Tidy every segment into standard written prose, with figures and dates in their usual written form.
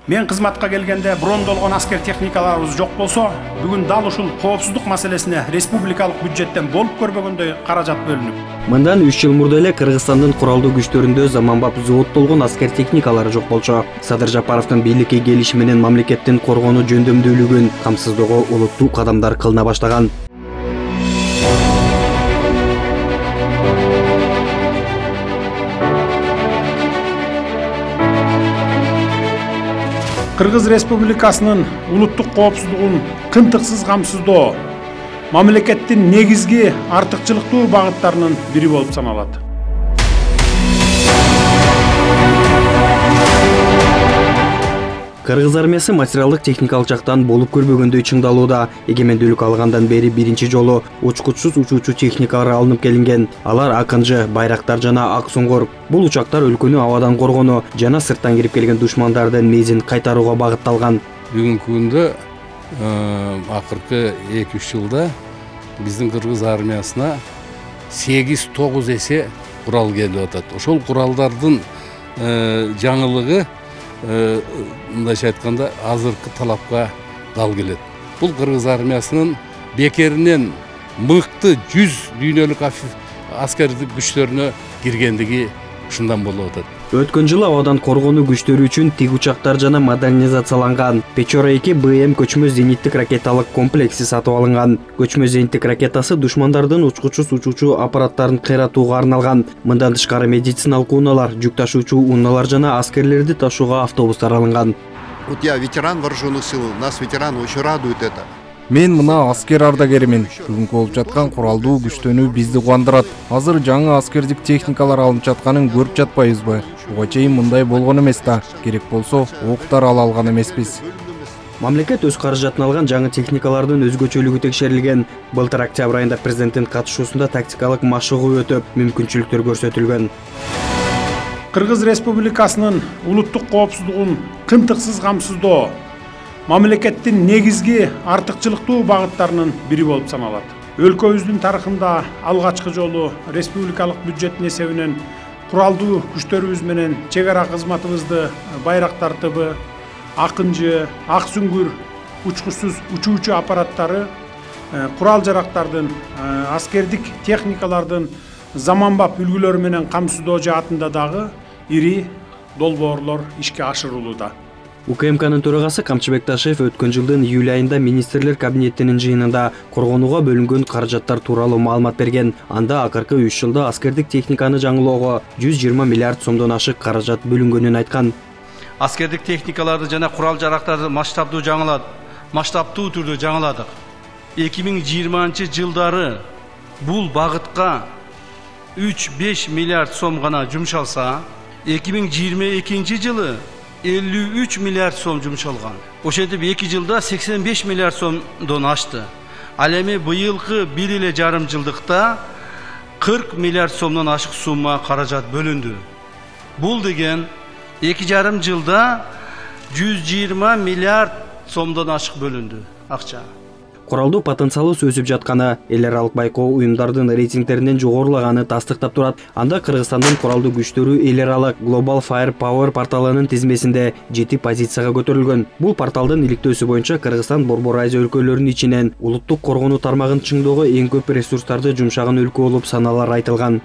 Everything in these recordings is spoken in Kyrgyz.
Мен кызматка келгенде брондолгон аскер техникаларыбыз жок болсо, бүгүн дал ушул коопсуздук маселесине республикалык бюджеттен болуп көрбөгөндөй каражат бөлүнүп. Мындан 3 жыл мурда эле Кыргызстандын куралдуу күчтөрүндө заманбап зооттолгон аскер техникалары жок болчу. Садыр Жапаровдун бийликке келиши менен мамлекеттин коргонуу жөндөмдүүлүгүн камсыздоого олуттуу кадамдар кылына баштаган. Кыргыз Республикасынын улуттук коопсуздугун кынтыксыз камсыздоо мамлекеттин негизги артыкчылыктуу багыттарынын бири болуп саналат. Кыргыз армиясы материалдык техникалык жактан болуп көрбөгөндөй чыңдалууда. Эгемендүүлүк алгандан бери биринчи жолу учкучсуз учуучу техникалар алынып келинген. Алар Акынжы, Байрактар жана Ак Суңгур. Бул учактар өлкөнү абадан коргонуу жана сырттан кирип келген душмандардын мезин кайтарууга багытталган. Бүгүнкү күндө акыркы 2-3 жылда биздин Кыргыз армиясына 8-9 эсе курал келип атат. Ошол куралдардын жаңылыгы мындайча айтканда азыркы талапка дал келет. Бул Кыргыз армиясынын бекеринен мыкты 100 дүйнөлүк аскердик күчтөрүнө киргендиги ушундан болуп атат. Өткөн жылы абадан коргонуу күчтөрү үчүн тиг учактар жана модернизацияланган Печора 2 БМ көчмө зениттик ракеталык комплекси сатып алынган. Көчмө зениттик ракетасы душмандардын учкучсуз учуучу аппараттарын кыйратууга арналган. Мындан тышкары медициналык унаалар, жүк ташуучу унаалар жана аскерлерди ташууга автобустар алынган. Вот я ветеран вооруженных сил, нас ветераны очень радует это. Мен мына аскер ардагеримин. Бүгүнкү болуп жаткан куралдуу күчтөнүү бизди кубандырат. Азыр жаңы аскердик техникалар алынып жатканын көрүп жатпайбызбы? Буга чейин мындай болгон эмес да. Керек болсо октар ала алган эмеспиз. Мамлекет өз каражатын алган жаңы техникалардын өзгөчөлүгү текшерилген. Былтыр октябрь айында президенттин катышуусунда тактикалык машыгуу өтүп, мүмкүнчүлүктөр көрсөтүлгөн. Кыргыз Республикасынын улуттук коопсуздугун кынтыксыз камсыздоо мамлекеттин негизги артыкчылыктуу багыттарынын бири болуп саналат. Өлкөбүздүн тарыхында алгачкы жолу республикалык бюджеттин эсебинен куралдуу күчтөрүбүз менен чек ара кызматыбызды Байрактар ТБ, Акынжы, Ак Суңгур учкучсуз учуучу аппараттары, курал жарактардын, аскердик техникалардын заманбап үлгүлөрү менен камсыздоо жаатында дагы ири долбоорлор ишке ашырылууда. УКМКнын төрагасы Камчыбек Ташев өткөн жылдын июль айында министрлер кабинетинин жыйынында коргонууга бөлүнгөн каражаттар тууралуу маалымат берген. Анда акыркы 3 жылда аскердик техниканы жаңылоого 120 миллиард сомдон ашык каражат бөлүнгөнүн айткан. Аскердик техникаларды жана курал жарактарды масштабтуу түрдө жаңыладык. 2020 жылдары бул багытка 3-5 миллиард сом гана жумшалса, 2022 жылы 53 миллиард сом жумшалган. Ошентип 2 жылда 85 миллиард сомдон ашты. Ал эми быйылкы 1,5 жылдыкта 40 миллиард сомдон ашык сумма каражат бөлүндү. Бул деген 2,5 жылда 120 миллиард сомдон ашык бөлүндү акча. Куралдуу потенциалы өсүп жатканы, эл аралык байкоо уюмдардын рейтингтеринен жогорулаганы тастыктап турат. Анда Кыргызстандын куралдуу күчтөрү эл аралык Global Firepower порталынын тизмесинде 7 позицияга көтөрүлгөн. Бул порталдын иликтөөсү боюнча Кыргызстан Борбор Азия өлкөлөрүнүн ичинен улуттук коргонуу тармагын чыңдоого эң көп ресурстарды жумшаган өлкө болуп саналары айтылган.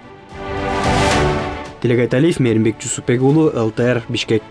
Тилек Айталиев, Мээринбек Жусупбек уулу, ЛТР, Бишкек.